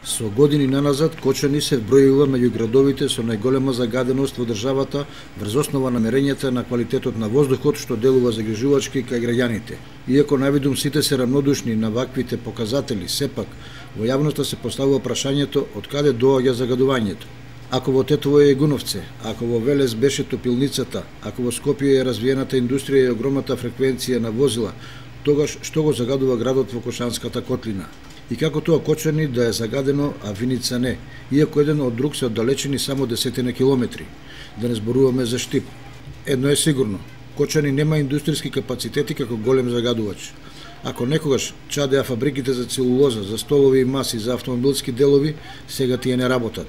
Со години наназад, Кочани се вбројува меѓу градовите со најголема загаденост во државата врз основа на мерењата на квалитетот на воздухот што делува загрижувачки кај граѓаните. Иако навидум сите се рамнодушни на ваквите показатели, сепак во јавноста се поставува прашањето од каде доаѓа загадувањето. Ако во Тетово е Гуновце, ако во Велес беше топилницата, ако во Скопје е развиената индустрија и огромната фреквенција на возила, тогаш што го загадува градот во Кошанската котлина? И како тоа Кочани да е загадено, а Виница не, иако еден од друг се оддалечени само десетина километри, да не зборуваме за Штип. Едно е сигурно, Кочани нема индустријски капацитети како голем загадувач. Ако некогаш чадеа фабриките за целулоза, за столови и маси, за автомобилски делови, сега тие не работат.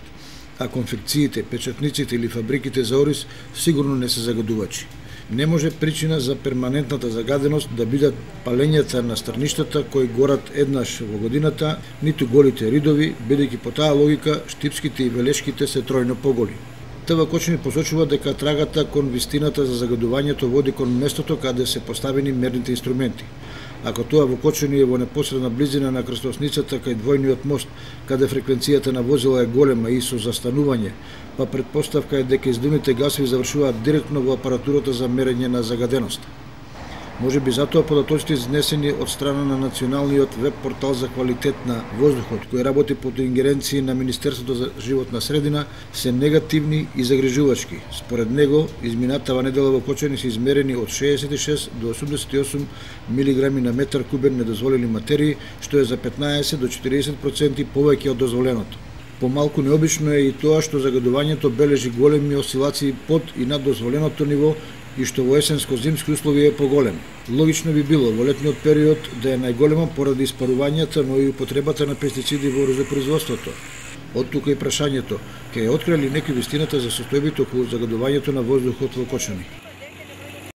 А конфекциите, печатниците или фабриките за ориз сигурно не се загадувачи. Не може причина за перманентната загаденост да бидат палењата на страништата кои горат еднаш во годината, ниту голите ридови, бидејќи по таа логика штипските и велешките се тројно поголи. ТВ Кочани посочува дека трагата кон вистината за загадувањето води кон местото каде се поставени мерните инструменти. Ако тоа во Кочани е во непосредна близина на крстосницата кај двојниот мост, каде фреквенцијата на возила е голема и со застанување, па претпоставка е дека издувните гасови завршуваат директно во апаратурата за мерење на загаденост. Може би затоа податоците изнесени од страна на националниот веб портал за квалитет на воздухот, кој работи под ингеренции на Министерството за животна средина, се негативни и загрижувачки. Според него, изминатава недела во Кочани се измерени од 66 до 88 милиграми на метар кубен недозволени материи, што е за 15 до 40% повеќе од дозволеното. Помалку необично е и тоа што загадувањето бележи големи осцилации под и над дозволеното ниво и што во есенско-зимски услови е поголем. Логично би било во летниот период да е најголема поради испарувањата, но и употребата на пестициди во розопроизводството. Од тука и прашањето, ќе ја открие ли некој вистината за состојбите околу загадувањето на воздухот во Кочани?